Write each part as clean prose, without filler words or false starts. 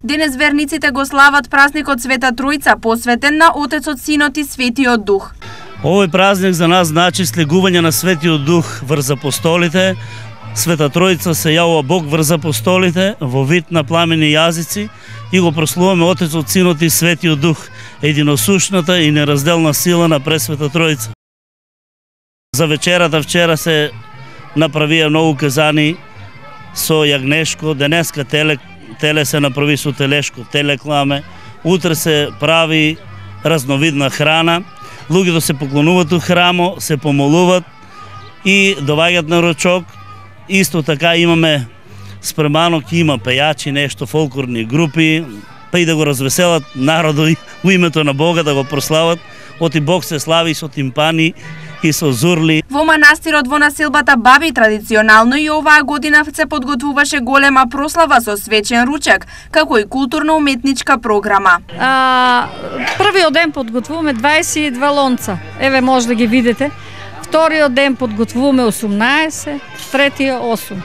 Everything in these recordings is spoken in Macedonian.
Денес верниците го слават празникот Света Тројца, посветен на Отецот, Синот и Светиот Дух. Овој празник за нас значи слегување на Светиот Дух врз апостолите. Света Тројца се јавува Бог врз апостолите во вид на пламени јазици и го прославуваме Отецот, Синот и Светиот Дух, единосушната и неразделна сила на Пресвета Тројца. За вечерата вчера се направија многу казани со јагнешко, денеска теле се направи со телешко, телекламе, утре се прави разновидна храна, луѓето се поклонуваат у храмо, се помолуваат и доаѓаат на ручок. Исто така имаме спремано, има пејачи, нешто, фолклорни групи, па и да го развеселат народот во името на Бога, да го прослават. Оти Бог се слави со тимпани и со зурли. Во манастирот во населбата Баби традиционално и оваа година се подготвуваше голема прослава со свечен ручек, како и културно-уметничка програма. Првиот ден подготвуваме 22 лонца. Еве може да ги видите. Вториот ден подготвуваме 18, третиот 8.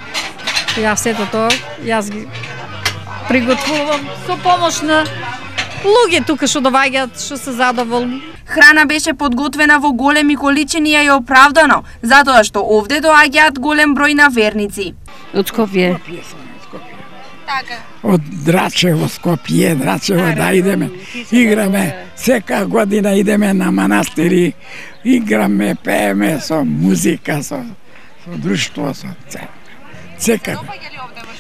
Јас сето тоа, јас ги приготвувам со помош на луѓе тука што доаѓаат, што се задоволни. Храна беше подготвена во големи количини и оправдано, затоа што овде доаѓаат голем број на верници. Од Скопје. Така. Од Драчево, Скопје, Драчево, да идеме, играме, сека година идеме на манастири, играме, пееме со музика, со друштво, со сека.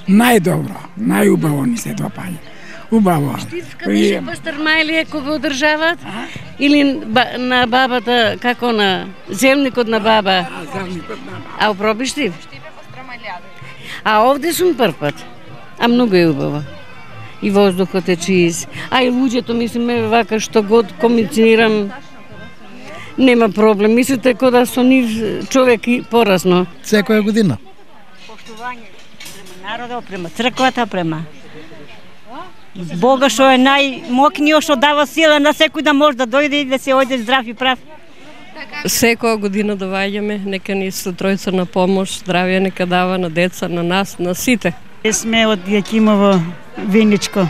Најдобро, најубаво ни се допаѓа. Убаво. Штивска беше пастырма или кога одржават? Или на бабата, како на земникот на баба? Земникот на баба. А опробиш штив? А овде сум прв пат. А многу е убаво. И воздухот е чист. А и луѓето, мислиме, вака што год комуницирам, нема проблем. Мислите кога со нив човек и порасно. Секоја година. Поштување према народот, према црквата, према Бога што е најмокниот, што дава сила на секој да може да дојде и да се ојде здрав и прав. Секоја година доваѓаме, нека ни Света Тројца на помош, здравје нека дава на деца, на нас, на сите. Сме од Јакимово, Виничко.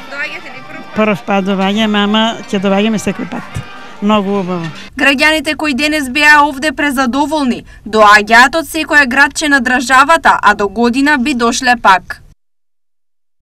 Доаѓате ли прв пат доваѓаме, ама ќе доваѓаме секој пат. Многу убаво. Граѓаните кои денес беа овде презадоволни, доаѓаат од секој градче на државата, а до година би дошле пак.